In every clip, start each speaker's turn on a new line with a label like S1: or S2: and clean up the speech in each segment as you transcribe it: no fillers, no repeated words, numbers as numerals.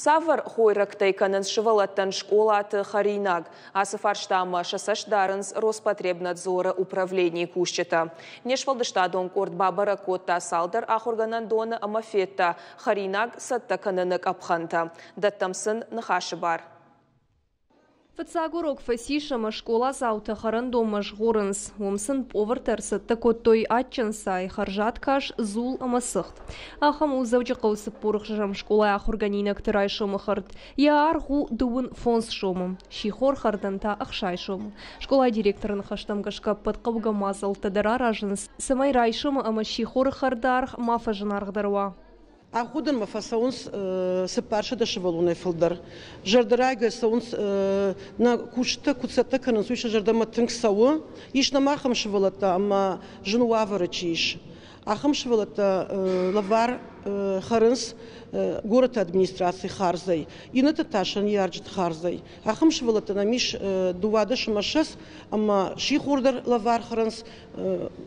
S1: Цавӕр хойрӕгтӕй кӕнынц сывӕллӕттӕн скъолаты хӕринаг? Ацы фарстамӕ сӕ цӕст дарынц Роспотребнадзоры управленийы кусджытӕ. Не сфӕлдыстадон къорд бабӕрӕг кодта цалдӕр ахуыргӕнӕндоны ӕмӕ федта хӕринаг цӕттӕ кӕныны къӕпхӕнтӕ. Дӕттӕм сын ныхасы бар.
S2: Фыццаг урок фӕцис ӕмӕ скъоладзаутӕ хӕрӕндонмӕ згъорынц. Уым сын повартӕ ӕрцӕттӕ кодтой адджын цай, хӕрзад кас, дзул ӕмӕ цыхт. Ахӕм у Дзӕуджыхъӕуы 46-ӕм скъолайы ахуыргӕнинӕгты райсомы хӕрд. Йӕ аргъ у 35 сомы, сихор хӕрдӕн та 60 сомы. Скъолайы директоры ныхӕстӕм гӕсгӕ ӕппӕт хъӕугӕ мадзӕлттӕ дӕр аразынц, цӕмӕй райсомы ӕмӕ сихоры хӕрды аргъ ма фӕзынаргъдӕр уа.
S3: Аходӕнмӕ фӕцӕуынц 400 сывӕллонӕй фылдӕр. Зӕрдӕрайгӕ цӕуынц, нӕ кусджытӕ куыд цӕттӕ кӕнынц, уый сӕ зӕрдӕмӕ тынг цӕуы. Ис нӕм ахӕм сывӕллӕттӕ ӕмӕ зын уавӕры чи ис, ахӕм сывӕллӕттӕ лӕвар хӕрынц горӕты администрацийы хардзӕй, иннӕтӕ та сӕ ныййарджыты хардзӕй. Ахӕм сывӕллӕттӕ нӕм ис 12 ӕмӕ 20 ӕмӕ сихор дӕр лӕвар хӕрынц,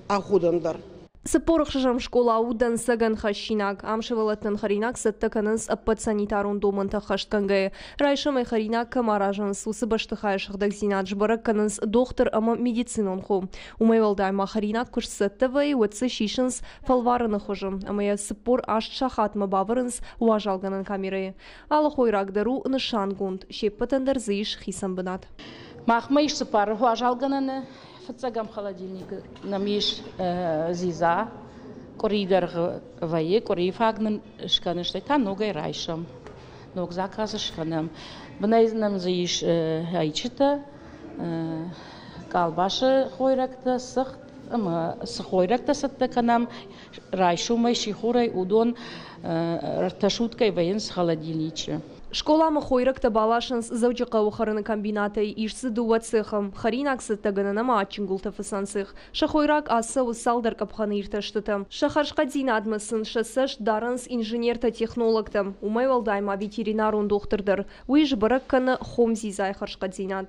S3: аходӕн дӕр.
S2: 46-ӕм скъола у дӕнцӕгӕн хӕссинаг. Ам сывӕллӕттӕн хӕринаг цӕттӕ кӕнынц ӕппӕт санитарон домӕнтӕ ӕххӕстгӕнгӕйӕ. Райсомӕй хӕринаг кӕм аразынц, уыцы бӕстыхайы сыгъдӕгдзинад сбӕрӕг кӕнынц дохтыр ӕмӕ медицинон хо. Уымӕй уӕлдай ма хӕринаг куы сцӕттӕ вӕййы, уӕд дзы сисынц фӕлварыны хуызы ӕмӕ йӕ 48 сахатмӕ бавӕрынц уазалгӕнӕн камерӕйы. Алы хойраг дӕр у нысангонд, се ппӕтӕн дӕр дзы ис хицӕн бынат.
S4: Махмӕ ис цыппар уазалгӕнӕны. Фыццӕгӕм холодильникы нӕм ис дзидза, къуыри дӕргъы вӕййы, къуырийы фаг нын скӕны, стӕй та ногӕй райсӕм, ног заказ скӕнӕм. Бынӕй нӕм дзы ис ӕйчытӕ, къалбасы хойрӕгтӕ, цыхт ӕмӕ цы хойрӕгтӕ цӕттӕ кӕнӕм райсомӕй, сихорӕй, уыдон ӕртӕ суткӕйы вӕййынц холодильничы.
S2: Скъоламӕ хойрӕгтӕ баласынц Дзӕуджыхъӕуы хӕрыны комбинатӕй, ис дзы дыууӕ цехы, хӕринаг цӕттӕгӕнӕн ӕмӕ адджын гуылтӕ фыцӕн цех. Сӕ хойраг ацӕуы цалдӕр къӕпхӕны иртӕстытӕ. Сӕ хӕрзхъӕддзинадмӕ сын сӕ цӕст дарынц инженертӕ-технологтӕ. Уымӕй уӕлдай ма ветеринарон дохтыр дӕр. Уый сбӕрӕг кӕны хом дзидзайы хӕрзхъӕддзинад.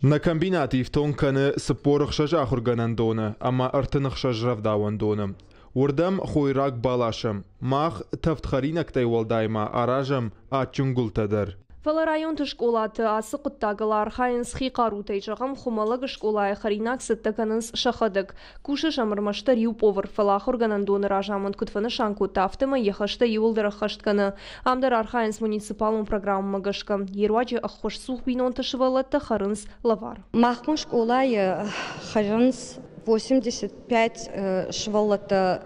S5: Нӕ комбинат ифтонг кӕны 46 ахуыргӕнӕндоны ӕмӕ 36 рӕвдауӕндоны. Уырдӕм хойраг баласӕм. Мах тӕвд хӕринӕгтӕй уӕлдай ма аразӕм адджын гуылтӕ дӕр.
S2: Фӕлӕ районты скъолаты ацы хъуыддагыл архайынц хи хъарутӕй. Зӕгъӕм, Хуымӕллӕгы скъолайы хӕринаг цӕттӕ кӕнынц сӕхӕдӕг. Кусы сӕм ӕрмӕстдӕр иу повар, фӕлӕ ахуыргӕнӕндоны разамынд куыд фӕнысан кодта, афтӕмӕй йӕ хӕстӕ иууылдӕр ӕххӕст кӕны. Ам дӕр архайынц муниципалон программӕмӕ гӕсгӕ. Йе руаджы ӕххуысцух бинонты сывӕллӕттӕ хӕрынц лӕвар.
S6: Махмӕ скъолайы хӕрынц 85 сывӕллӕттӕ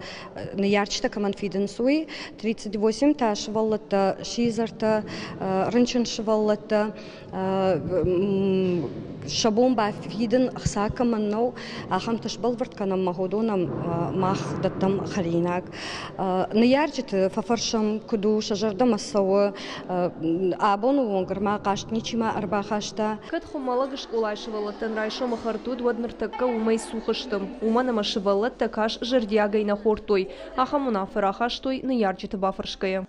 S6: ныййарджытӕ кӕмӕн фидынц, уый, 38 та сывӕллӕттӕ сидзӕртӕ, рынчын сывӕллӕттӕ, сӕ бон бафидын ӕхца кӕмӕн нӕу, ахӕмтӕ сбӕлвырд кӕнӕм ӕмӕ уыдонӕн мах дӕттӕм хӕринаг. Ныййарджыты фӕфӕрсӕм, куыд у, сӕ зӕрдӕмӕ цӕуы. Абоны онг ӕрма хъаст ничима ӕрбахаста.
S2: Кӕд Хуымӕллӕгы скъолайы сывӕллӕттӕн райсомы хӕрд уыд, уӕд ныртӕккӕ уымӕй цух сты. Уымӕн ӕмӕ сывӕллӕттӕ кас зӕрдиагӕй нӕ хордтой. Ахӕм уынаффӕ рахастой ныййарджыты бафӕрсгӕйӕ.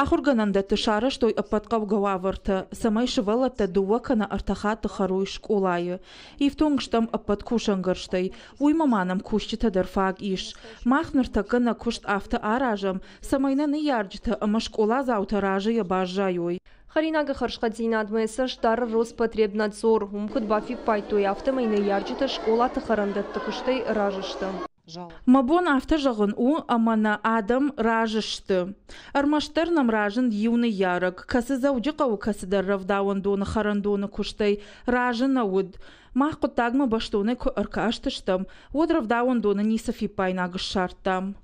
S7: Ахуыргӕнӕндӕтты сарӕзтой ӕппӕт хъӕугӕ уавӕртӕ, цӕмӕй сывӕллӕттӕ дыууӕ кӕнӕ ӕртӕ хатты хӕрой скъолайы. Ифтонг стӕм ӕппӕт кусӕнгӕрзтӕй, уыимӕ ма нӕм кусджытӕ дӕр фаг ис. Мах ныртӕккӕ нӕ куыст афтӕ аразӕм, цӕмӕй нӕ ныййарджытӕ ӕмӕ скъоладзаутӕ разыйӕ баззайой.
S2: Хӕринагы хӕрзхъӕддзинадмӕ цӕст дары Роспотребнадзор. Уым куыд бафиппайдтой, афтӕмӕй ныййарджытӕ скъолаты хӕрӕндӕтты куыстӕй разы сты.
S7: Мӕ бон афтӕ зӕгъын у, ӕмӕ нӕ адӕм разы сты. Ӕрмӕстдӕр нӕм разынд иу ныййарӕг, кӕцы Дзӕуджыхъӕуы кӕцыдӕр рӕвдауӕндоны хӕрӕндоны куыстӕй разы нӕ уыд. Мах хъуыддагмӕ бӕстонӕй куы ӕркастыстӕм, уӕд рӕвдауӕндоны ницы фиппаинаг ссардтам.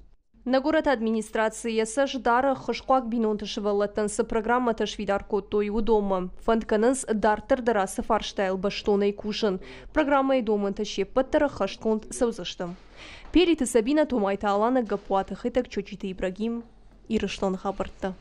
S2: Нӕ горӕты администраци йӕ цӕст дары, хызхъуаг бинонты сывӕллӕттӕн цы программӕтӕ сфидар кодтой, уыдонмӕ. Фӕнд кӕнынц дарддӕр дӕр ацы фарстайыл бӕстонӕй кусын. Программӕйы домӕнтӕ се ппӕт дӕр ӕххӕстгонд цӕудзысты. Периты Сабинӕ, Томайты Алана, Гаппуаты Хетӕг, Чочиты Ибрагим, Ирыстоны хабӕрттӕ.